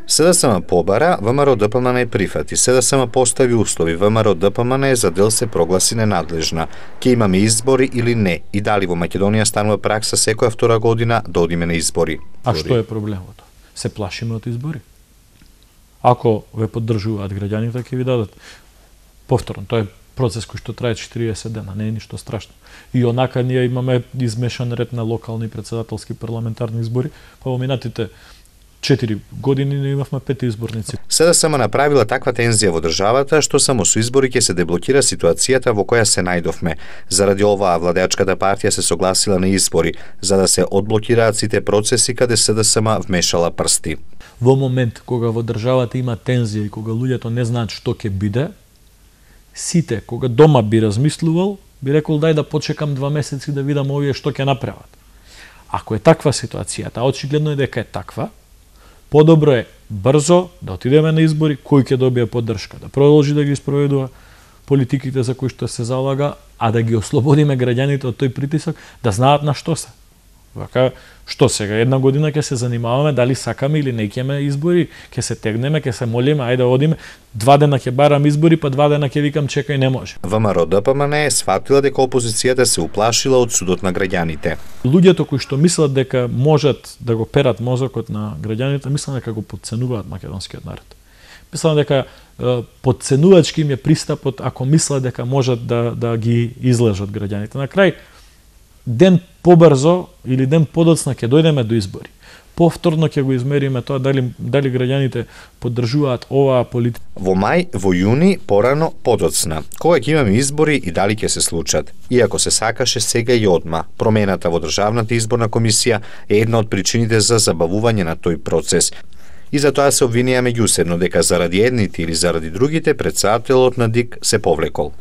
СДСМ побара, ВМРО ДПМН прифати. СДСМ постави услови, ВМРО ДПМН за дел се прогласи ненадлежна. Ке имаме избори или не? И дали во Македонија станува пракса секоја втора година да одиме на избори? А што е проблемот? Се плашиме од избори. Ако ве поддржуваат граѓаните, ќе ви дадат. Повторно, тоа е процес кој што трае 40 дена, не е ништо страшно. И онака ние имаме измешан ред на локални, председателски, парламентарни избори, па во минатите 4 години не имавме 5 изборници. СДСМ направила таква тензија во државата што само со избори ќе се деблокира ситуацијата во која се најдовме. Заради ова владеачката партија се согласила на избори за да се одблокираат сите процеси каде СДСМ вмешала прсти. Во момент кога во државата има тензија и кога луѓето не знаат што ќе биде, сите кога дома би размислувал, би рекол дај да почекам 2 месеци да видам овие што ќе направат. Ако е таква ситуацијата, очигледно е дека е таква, подобро е брзо да отидеме на избори, кој ќе добие поддршка, да продолжи да ги спроведува политиките за кои што се залага, а да ги ослободиме граѓаните од тој притисок, да знаат на што се. Вака, што сега, една година ќе се занимаваме дали сакаме или не ќе избори, ќе се тегнеме, ќе се молиме, ајде одиме, 2 дена ќе барам избори, па 2 дена ќе викам чекај, не може. ВМРО ДПМН е сфатила дека опозицијата се уплашила од судот на граѓаните. Луѓето кои што мислат дека можат да го перат мозокот на граѓаните, мислам дека го потценуваат македонскиот народ. Мислам дека потценувачки им е пристапот ако мислат дека можат да ги излежат граѓаните. На крај, ден побрзо или ден подоцна ќе дојдеме до избори. Повторно ќе го измериме тоа дали граѓаните поддржуваат оваа политика. Во мај, во јуни, порано, подоцна. Кога ќе имаме избори и дали ќе се случат? Иако се сакаше сега и одма, промената во Државната изборна комисија е една од причините за забавување на тој процес. И затоа се обвинија меѓусебно дека заради едните или заради другите председателот на ДИК се повлекол.